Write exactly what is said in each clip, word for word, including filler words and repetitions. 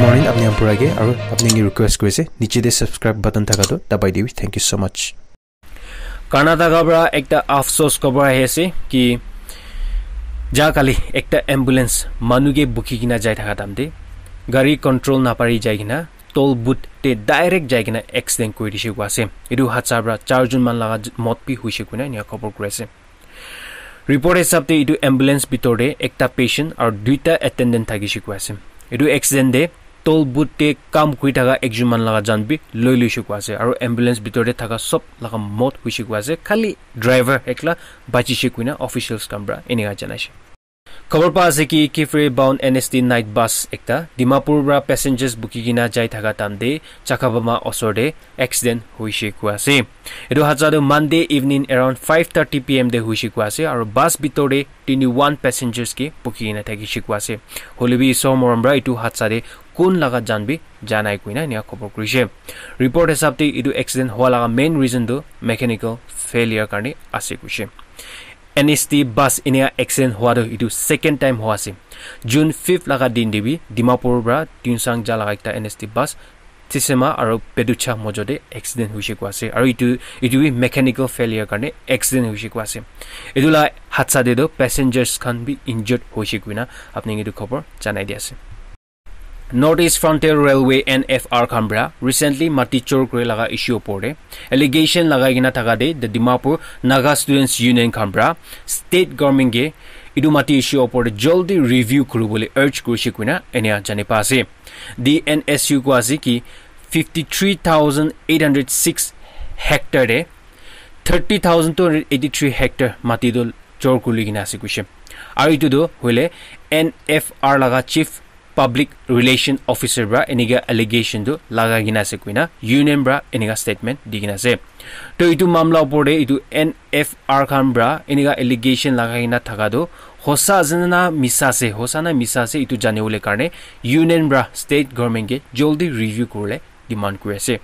Morning, apni khan pura ke aru apni ke request kuri ase, niche te subscribe button thaka tu dabai dibi. Thank you so much. Karnataka para ekta afsos khobor ahi ase ki ja kali ekta ambulance manu ke bukhi kena jai thaka time te gari control napari jai kena toll booth te direct jai kena accident kuri dishe koi ase. Etu hadsa para char jon manu laga j-, mot bi hoise koina enia khobor kuri ase. Report hisab te etu ambulance bitor te ekta patient aru duita attendant thakishe koi ase. Etu accident te toll booth te kam kuri thaka ekjon manu laga jan bi loi loishe koi ase aru ambulance bitor te thaka sob laga mot hoishe koi ase, khali driver ekla bachishe koina officials khan para enika janaishe. Khobor pa ase ki Kiphire bound N S T night bus ekta Dimapur para passengers bukhi kena jai thaka time te Chakabama osor te accident hoishe koi ase. Etu hadsa tu Monday evening around five thirty P M te hoishe koi ase aru bus bitor te twenty-one passengers ke bukhi kena thakishe koi ase. Hoile bi Isor morom para etu hadsa te kun laga jan bi janai koina enia khobor kurishe. Report hisab te etu accident hua laga main reason tu mechanical failure karne ase kuishe. N S T bus enia accident hua tu etu second time hua ase. June fifth laga din te bi Dimapur para Tuensang ja laga ekta N S T bus Tsisema aru Peducha mojo te accident hoishe koi ase aru etu, etu bi mechanical failure karne accident hoishe koi ase. Etu la hadsa te tu passengers khan bi injured hoishe koina apni ke etu khobor janai di ase. North East Frontier Railway N F R khan para recently mati chor kuri laga issue opor te allegation lagai kena thaka te the Dimapur Naga Students Union khan para state government ke etu mati issue opor te jaldi review kuri bole urge kurishe koina enia jani pa ase. The N S U koi ase ki fifty three thousand eight hundred six hectare te thirty thousand two hundred eighty three hectare mati tu chor kuri kena ase kuishe. Aru etu tu hoile N F R laga chief public relation officer para enika allegation tu lagai kena ase koina union para enika statement di kena ase. To etu mamla opor te etu N F R khan para enika allegation lagai kena thaka tu hosa ase na misa ase, hosa na misa ase etu jani bole karne union para state government ke jaldi review kuri bole demand kuri ase.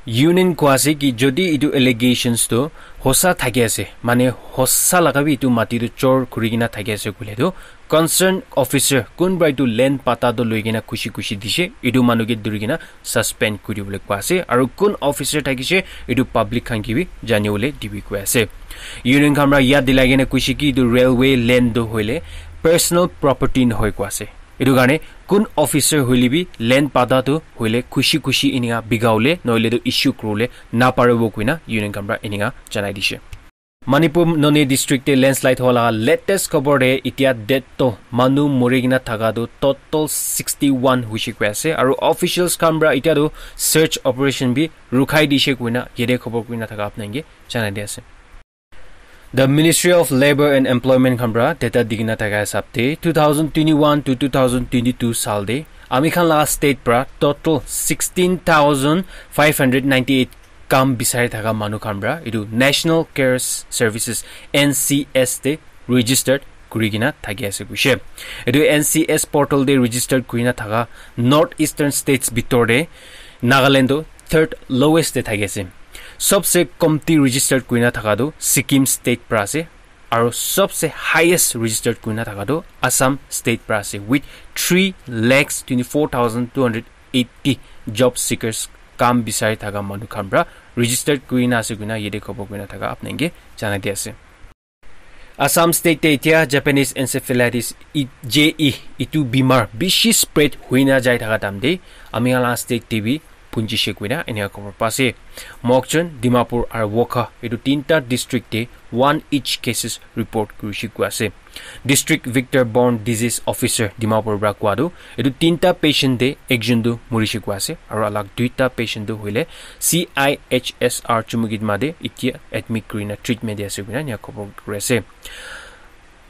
Union koi ase ki jodi etu allegations tu hosa thaki ase, mane hosa laga bi etu mati tu chor kuri kena thaki ase koile tu concern officer kun para etu land pata tu loi kena khushi khushi dishe, etu manu ke duri kena suspend kuri bole koi ase aru kun officer thakishe etu public khan ke bi jani bole dibi koi ase. Union khan para yad dilai kena kuishe ki etu railway land tu hoile personal property nohoi koi ase. Etu karne kun officer hoile bi land pata tu hoile khushi khushi enika bika bole nohoile tu issue kuri bole naparibo koina union khan para enika janai dishe. Manipur Noney district te landslide howa laga latest khobor te etia death toll manu mori kena thaka tu total sixty one hoishe koi ase aru officials khan para etia tu search operation bi rukhai dishe koina yate khobor kurina thaka apni khan ke janai di ase. The Ministry of Labour and Employment khan para data dikina thaka hisab te two thousand twenty-one to two thousand twenty-two sal te ami khan laga state para total sixteen thousand five hundred ninety-eight kam bisari thaka manu khan para etu National Care Services, N C S te registered kuri kena thaki ase kuishe. Etu N C S portal te registered kurina thaka North Eastern states bitor te Nagaland tu third lowest te thaki ase. Sobse komti registered kurina thaka tu Sikkim state para ase, aru sobse highest registered kurina thaka tu Assam state para ase with three lakhs twenty-four thousand two hundred eighty job seekers, kam bisari thaka manu khan para registered kurina ase koina yate khobor kurina thaka apni khan ke janai di ase. Assam state te etia Japanese encephalitis, i-, J E, itu bimar bishi spread huina jai thaka time te ami khan la state te bi punjishe koina enika khobor pa ase. Mokokchung, Dimapur aru Wokha, itu tinta district te one each cases report kurishe koi ase. District Vector Borne Disease Officer Dimapur para kowa tu, etu tinta patient te ekjon tu morishe koi ase, aru alag duita patient tu hoile C I H S R Chumukitma te etia admit kurina treatment di ase koina enika khobor kuri ase.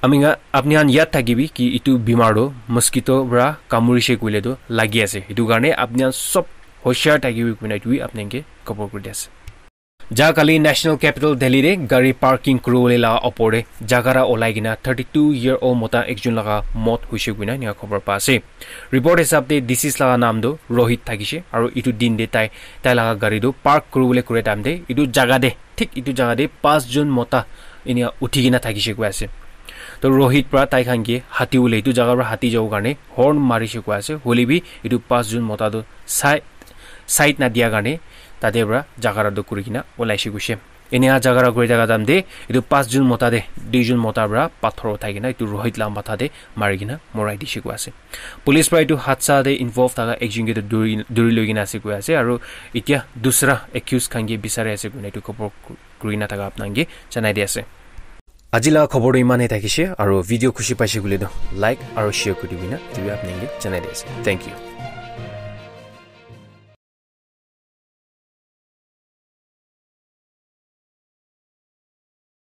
Ami khan, apni khan yad thakibi ki etu bimar tu mosquito para kamurishe koile tu lagi ase. Etu karne apni khan sob hoshiar thakibi koina etu bi apni khan ke khobor kuri di ase. Ja kali National Capital Delhi te gari parking kuribole laga opor te jaga ra olai kena thirty-two year old mota ekjon laga mot hoise koina enika khobor pa ase. Report hisab te deceased laga naam tu Rohit thakishe aru etu din te tai, tai laga gari tu park kuribole kure time te etu jaga te, thik etu jaga te pas jon mota enika uthi kena thakishe koi ase. To Rohit pra tai khan ke hati ule etu jaga pra hati jabo karne horn marishe koi ase. Hoile bi etu pas jun mota tu sai side na dia karne tate pra jaga ra tu kuri kena olaishe koishe. Enia jaga ra kuri thaka time te etu pas jun mota te dui jun mota pra pathor uthai kena etu Rohit la matha te mari kena morai dishe koi ase. Police pra etu hadsa te involve thaka ekjun ke tu duri duri loi kena ase koi ase, aru etia dusra accused khan ke bisari ase koina etu khobor ku- kuri na thaka apnang ke janai di ase. Aji la khobor tu iman he thakishe, aru video khushi paishe koile tu like aru share kuri dibina etu bi apnang ke janai di ase. Thank you.